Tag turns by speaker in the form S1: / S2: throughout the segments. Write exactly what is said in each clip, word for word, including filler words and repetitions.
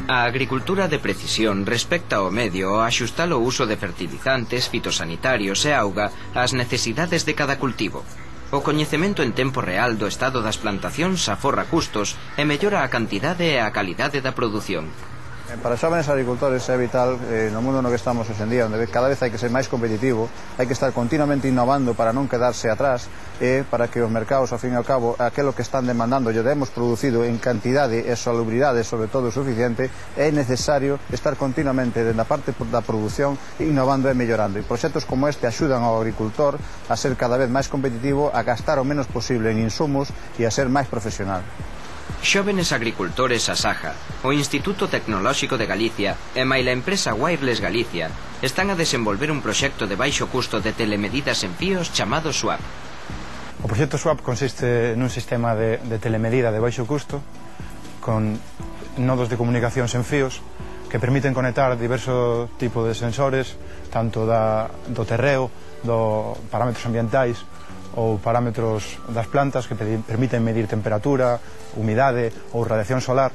S1: A agricultura de precisión respecta ao medio ao axustar o uso de fertilizantes, fitosanitarios e auga ás necesidades de cada cultivo. O coñecemento en tempo real do estado das plantacións aforra custos e mellora a cantidade e a calidade da produción.
S2: Para os xóvenes agricultores é vital, eh, no mundo no que estamos hoxe en día, onde cada vez hai que ser máis competitivo, hai que estar continuamente innovando para non quedarse atrás e para que os mercados, ao fin e ao cabo, aquilo que están demandando lle demos producido en cantidade e salubridade, sobre todo suficiente, é necesario estar continuamente dentro da parte da produción innovando e mellorando. E proxectos como este axudan ao agricultor a ser cada vez máis competitivo, a gastar o menos posible en insumos e a ser máis profesional.
S1: Xóvenes agricultores Asaja, o Instituto Tecnolóxico de Galicia e maila empresa Wireless Galicia están a desenvolver un proxecto de baixo custo de telemedidas en fíos chamado SWAP.
S3: O proxecto SWAP consiste nun sistema de, de telemedida de baixo custo con nodos de comunicación sen fíos que permiten conectar diversos tipos de sensores, tanto da, do terreo, do parámetros ambientais ou parámetros das plantas que permiten medir temperatura, humidade ou radiación solar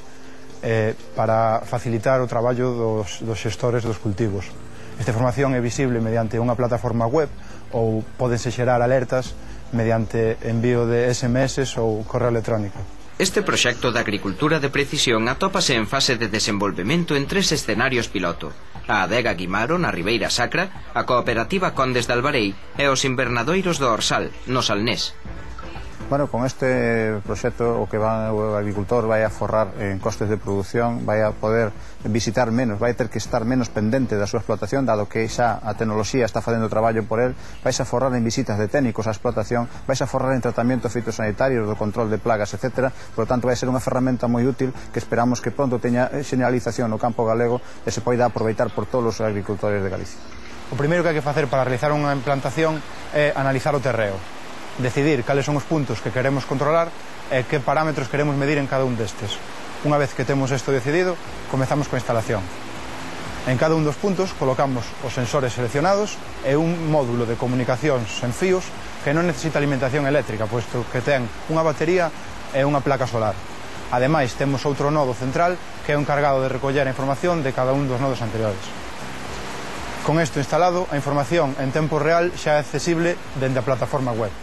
S3: eh, para facilitar o traballo dos, dos xestores dos cultivos. Esta información é visible mediante unha plataforma web ou pódense xerar alertas mediante envío de S M S ou correo electrónico.
S1: Este proxecto de agricultura de precisión atópase en fase de desenvolvemento en tres escenarios piloto: a adega Guimaro, na Ribeira Sacra, a cooperativa Condes de Albarei e os invernadoiros do Orsal, no Salnés.
S2: Bueno, con este proxecto o que va, o agricultor vai a forrar en costes de produción, vai a poder visitar menos, vai ter que estar menos pendente da súa explotación, dado que xa a tecnoloxía está facendo traballo por él, vais a forrar en visitas de técnicos á explotación, vais a forrar en tratamientos fitosanitarios, do control de plagas, etcétera. Por lo tanto, vai ser unha ferramenta moi útil que esperamos que pronto teña xeneralización no campo galego e se poida aproveitar por todos os agricultores de Galicia.
S3: O primeiro que hai que facer para realizar unha implantación é analizar o terreo, decidir cales son os puntos que queremos controlar e que parámetros queremos medir en cada un destes. Unha vez que temos isto decidido, comezamos coa instalación. En cada un dos puntos colocamos os sensores seleccionados e un módulo de comunicación sen fíos que non necesita alimentación eléctrica, posto que ten unha batería e unha placa solar. Ademais, temos outro nodo central que é o encargado de recoller a información de cada un dos nodos anteriores. Con isto instalado, a información en tempo real xa é accesible dende a plataforma web.